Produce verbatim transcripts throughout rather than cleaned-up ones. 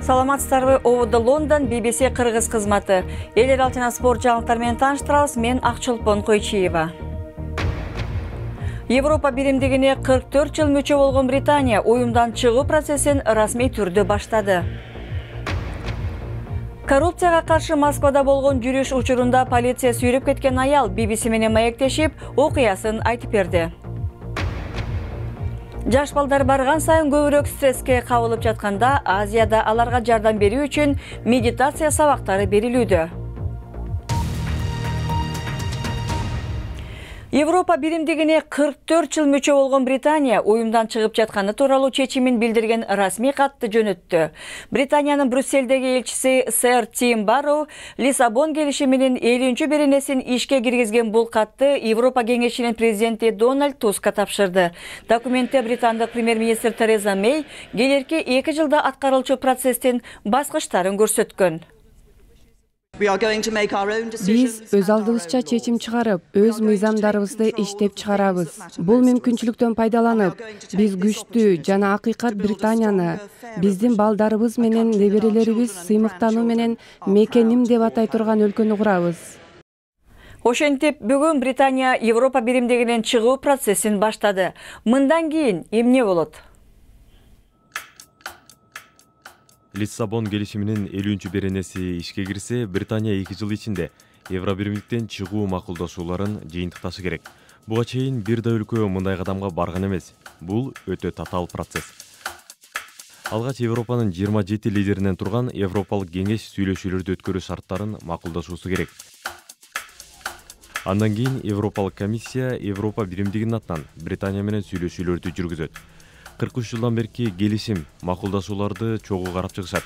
Саламатсыздарбы, Оводо Лондон, би би си Кыргыз кызматы. Эл аралык жана спорт жаңылыктары менен тааныштырабыз. Мен Акчолпон Койчиева. Европа биримдигине кырк төрт жыл мүчө болгон Британия уюмдан чыгуу процессин расмий түрдө баштады. Коррупцияга каршы Москвада болгон жүрүш учурунда полиция сүйрөп кеткен аял би би си менен маектешип, окуясын айтып берди. Жаш балдар барган сайын көбүрөөк стресске кабылып жатканда, Азияда аларга жардам берүү үчүн медитация сабактары берилүүдө. Европа биримдигине кырк төрт жыл мүчө болгон Британия уюмдан чыгып жатканы тууралуу чечимин билдирген расмий катты жөнөттү. Британиянын Брюссельдеги элчиси сэр Тим Барроу Лиссабон келишиминин элүүнчү беренесин ишке киргизген бул катты Европа кеңешинин президенти Дональд Туска тапшырды. Документте британдык премьер-министр Тереза Мэй келерки эки жылда аткарылчу процесстин баскычтарын көрсөткөн. Биз өз алдыбызча чечим чыгарып, өз мыйзамдарыбызды иштеп чыгарабыз. Бул мүмкүнчүлүктөн пайдаланып, биз күчтүү жана акыйкат Британияны биздин балдарыбыз менен неберелерибиз сыймыктануу менен мекеним деп атай турган өлкөнү курабыз. Ошентип, бүгүн Британия Европа биримдигинен чыгуу процессин баштады. Мындан кийин эмне болот? Лиссабон келишиминин элүүнчү беренеси ишке кирсе, Британия эки жыл ичинде Евро биримдиктен чыгуу макулдашууларын жыйынтыкташы керек. Буга чейин бир да өлкө мындай кадамга барган эмес. Бул өтө татаал процесс. Алгач Европанын жыйырма жети лидеринен турган Европалык кеңеш сүйлөшүүлөрдү өткөрүү шарттарын макулдашуусу керек. Андан кийин Европалык комиссия Европа биримдигинин атынан Британия менен сүйлөшүүлөрдү жүргүзөт. кырк үч жылдан берки келишим макулдашууларды чогуу карап чыгышат.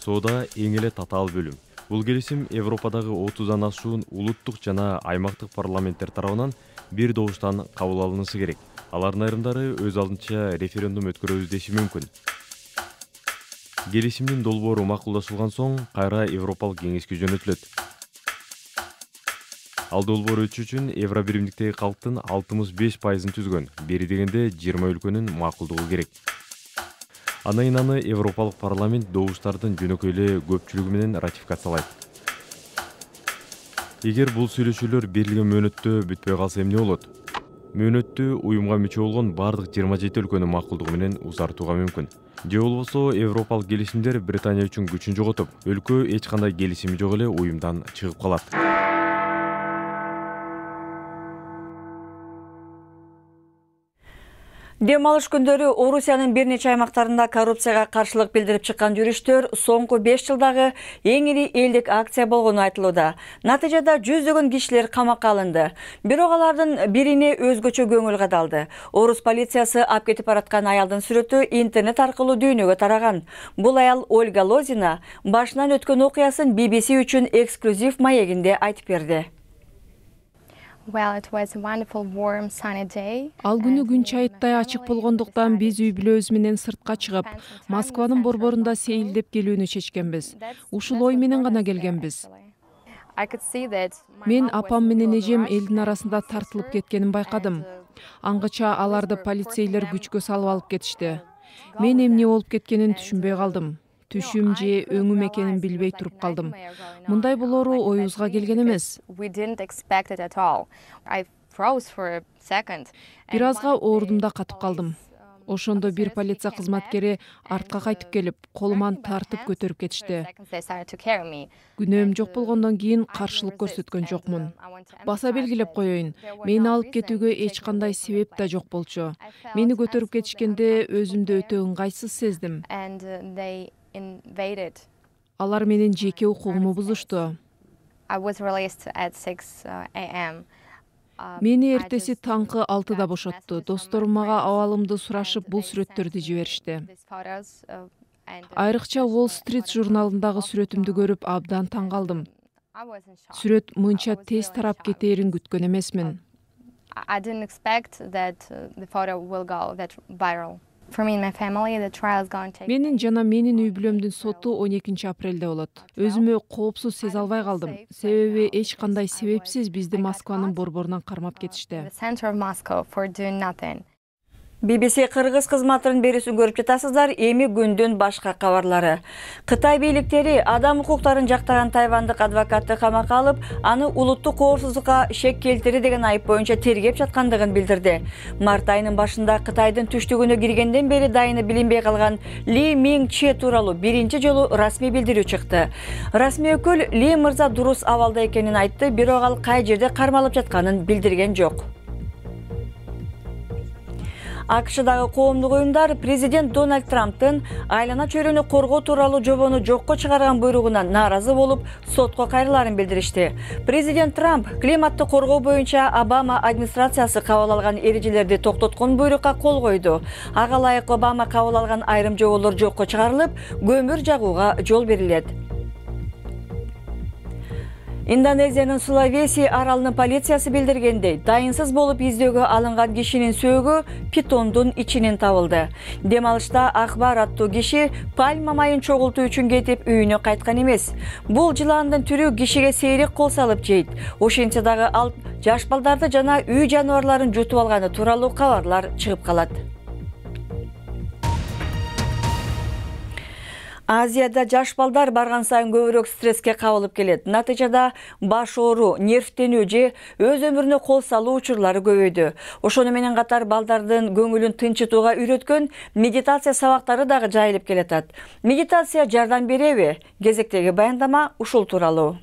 Соода эң эле татаал бөлүм. Бул келишим Европадагы отуздан ашуун улуттук жана аймактык парламенттер тарабынан бир добуштан кабыл алынышы керек. Алардын айрымдары өз алдынча референдум өткөрөбүз деши мүмкүн. Келишимдин долбоору макулдашылган соң кайра Европалык кеңешке жөнөтүлөт. Ал долбоор өтүш үчүн Евро биримдиктеги калктын алтымыш беш пайызын түзгөн, бери дегенде жыйырма өлкөнүн макулдугу керек. Андан кийин аны Европалык парламент добуштардын жөнөкөй эле көпчүлүгү менен ратификациялайт. Эгер бул сүйлөшүүлөр берилген мөөнөттө бүтпөй калса эмне болот? Мөөнөттү уюмга мүчө болгон бардык жыйырма жети өлкөнүн макулдугу менен узартууга мүмкүн. Же болбосо Европалык келишимдер Британия үчүн күчүн жоготуп, өлкө эч кандай келишими жок эле уюмдан чыгып калат. Дем алыш күндөрү Орусиянын бир нече аймактарында коррупцияга каршылык билдирип чыккан жүрүштөр соңку беш жылдагы эң ири элдик акция болгону айтылууда. Натыйжада жүздөгөн кишилер камакка алынды. Бирок алардын бирине өзгөчө көңүл кадалды. Орус полициясы ап кетип бараткан аялдын сүрөтү интернет аркылуу дүйнөгө тараган. Бул аял Ольга Лозина башынан өткөн окуясын би би си үчүн эксклюзив маегинде айтып берди. Well, it was a wonderful warm sunny day. Ал күнү күн чайыттай ачык болгондуктан биз үй бүлөбүз менен сыртка чыгып, Москванын борборунда сейилдеп келүүнү чечкенбиз. Ушул ой менен гана келгенбиз. Мен апам менен эжем элдин арасында тартылып кеткенин байкадым. Аңгыча аларды полицейлер күчкө салып алып кетишти. Мен эмне болуп кеткенин түшүнбөй калдым. Түшүм же өңүм экенин билбей туруп калдым. Мындай болору оюбузга келген эмес. Бир азга оорудум да катып калдым. Ошондо бир полиция кызматкери артка кайтып келип, колуман тартып көтөрүп кетишти. Күнөөм жок болгондон кийин каршылык көрсөткөн жокмун. Баса белгилеп коеюн, мени алып кетүүгө эч кандай себеп да жок болчу. Мени көтөрүп кетишкенде өзүмдү өтө ыңгайсыз сездим. Алар менин жеке укугуму бузушту. Мени эртеси таңкы алтыда бошотту. Досторум мага абалымды сурашып, бул сүрөттөрдү жиберишти. Айрыкча Wall Street журналындагы сүрөтүмдү көрүп абдан таң калдым. Сүрөт мынча тез тарап кетээрин күткөн эмесмин. Менин жана менин үй бүлөмдүн соту он экинчи апрелде болот. Өзүмө коопсуз сезе албай калдым. Себеби эч кандай себепсиз бизди Москванын борборунан кармап кетишти. би би си кыргыз кызматынын берүүсүн көрүп жатасыздар. Эми күндүн башка кабарлары. Кытай бийликтери адам укуктарын жактаган тайвандык адвокатты камакка алып, аны улуттук коопсуздукка шек келтири деген айып боюнча тергеп жаткандыгын билдирди. Март айынын башында Кытайдын түштүгүнө киргенден бери дайыны билинбей калган Ли Минг Че тууралуу биринчи жолу расмий билдирүү чыкты. Расмий өкүл Ли мырза дурус абалда экенин айтты, бирок ал кай жерде кармалып жатканын билдирген жок. АКШдагы коомдук уюмдар президент Дональд Трамптын айлана чөйрөнү коргоо тууралуу жобону жокко чыгарган буйругунан нааразы болуп, сотко кайрыларын билдиришти. Президент Трамп климатты коргоо боюнча Обама администрациясы кабыл алган эрежелерди токтоткон буйрукка кол койду. Ага ылайык Обама кабыл алган айрым жоболор жокко чыгарылып, көмүр жагууга жол берилет. Индонезиянын Сулавеси аралынын полициясы билдиргендей, дайынсыз болуп издөөгө алынган кишинин сөөгү питондун ичинен табылды. Дем алышта Акбар аттуу киши пальма майын чогултуу үчүн кетип үйүнө кайткан эмес. Бул жыландын түрү кишиге сейрек кол салып жейт. Ошентсе дагы ал жаш балдарды жана үй жаныбарларын жутуп алганы тууралуу кабарлар чыгып калат. Азияда жаш балдар барган сайын көбүрөөк стресске кабылып келет. Натыйжада баш оору, нервтенүү же өз өмүрүнө кол салуу учурлары көбөйдү. Ошону менен катар балдардын көңүлүн тынчытууга үйрөткөн медитация сабактары дагы жайылып келатат. Медитация жардам береби? Кезектеги баяндама ушул тууралуу.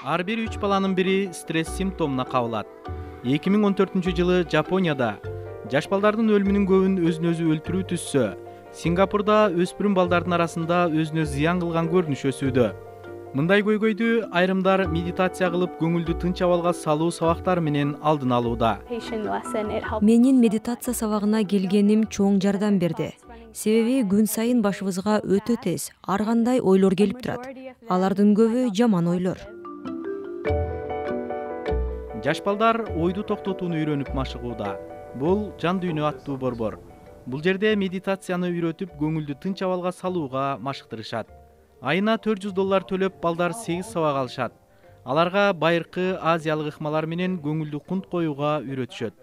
Ар бир үч баланын бири стресс симптомуна кабылат. эки миң он төртүнчү жылы Жапонияда жаш балдардын өлүмүнүн көбүн өзүн өзү өлтүрүү түзсө, Сингапурда өспүрүм балдардын арасында өзүнө зыян кылган көрүнүш өсүүдө. Мындай көйгөйдү айрымдар медитация кылып көңүлдү тынч абалга салуу сабактары менен алдын алууда. Менин медитация сабагына келгеним чоң жардам берди. Себеби күн сайын башыбызга өтө тез ар кандай ойлор келип турат. Алардын көбү жаман ойлор. Жаш балдар ойду токтотууну үйрөнүп машыгууда. Бул жан дүйнө аттуу борбор. Бул жерде медитацияны үйрөтүп, көңүлдү тынч абалга салууга машыктырышат. Айына төрт жүз доллар төлөп балдар сегиз сабак алышат. Аларга байыркы азиялык ыкмалар менен көңүлдү кунт коюуга үйрөтүшөт.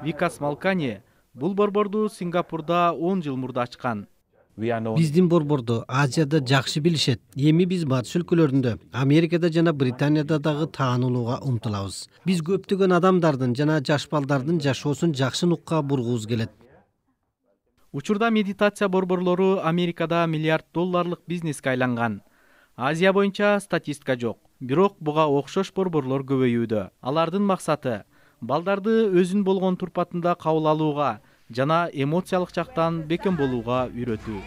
Викас Малкани бул борборду Сингапурда он жыл мурда ачкан. Биздин борборду Азияда жакшы билишет. Эми биз батыш өлкөлөрүндө, Америкада жана Британияда дагы таанылууга умтулабыз. Биз көптөгөн адамдардын жана жаш балдардын жашоосун жакшы нукка бургубуз келет. Учурда медитация борборлору Америкада миллиард долларлык бизнеске айланган. Азия боюнча статистика жок, бирок буга окшош борборлор көбөйүүдө. Алардын максаты балдарды өзүн болгон турпатында кабыл алууга жана эмоциялык жактан бекем болууга үйрөтүү.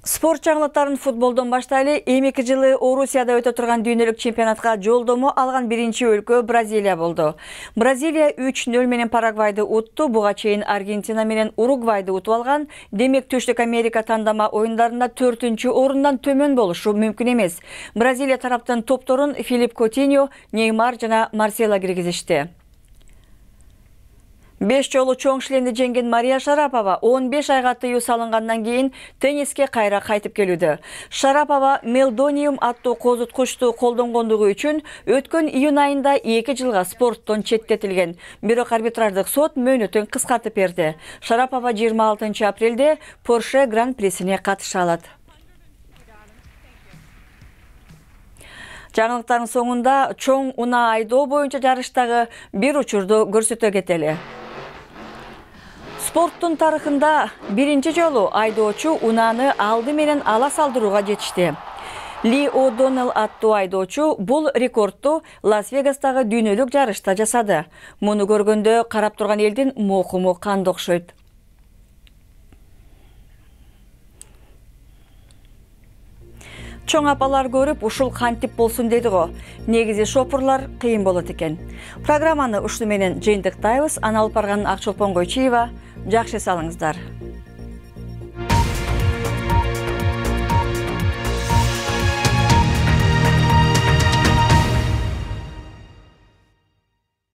Спорт жаңылыктарын футболдон баштайлы. Эмки жылы Орусияда өтө турган дүйнөлүк чемпионатка жолдомо алган биринчи өлкө Бразилия болду. Бразилия үч нөл менен Парагвайды утту. Буга чейин Аргентина менен Уругвайды утуп алган. Демек Түштүк Америка тандама оюндарында төртүнчү орундан төмөн болушу мүмкүн эмес. Бразилия тараптын топторун Филип Котиньо, Неймар жана Марсело киргизишти. беш жолу чоң шиленди жеңген Мария Шарапова он беш айга тыюу салынгандан кийин тенниске кайра кайтып келүүдө. Шарапова мелдониум аттуу козуткучту колдонгондугу үчүн өткөн июнь айында эки жылга спорттон четтетилген. Бирок арбитраждык сот мөөнөтүн кыскартып берди. Шарапова жыйырма алтынчы апрелде Порше гран-присине катыша алат. Жаңылыктардын соңунда чоң унаа айдоо боюнча жарыштагы бир учурду көрсөтө кетели. Спорттун тарыхында биринчи жолу айдоочу унааны алды менен ала салдырууга жетишти. Ли О'Доннелл аттуу айдоочу бул рекордту Лас-Вегастагы дүйнөлүк жарышта жасады. Муну көргөндө карап турган элдин мокуму канды окшойт. Чоң апалар көрүп, ушул кантип болсун деди го. Негизи шопурлар кыйын болот экен. Программаны ушуну менен жыйынтыктайбыз. Аны алып барган Акчолпон Койчиева. Жакшы салыңыздар.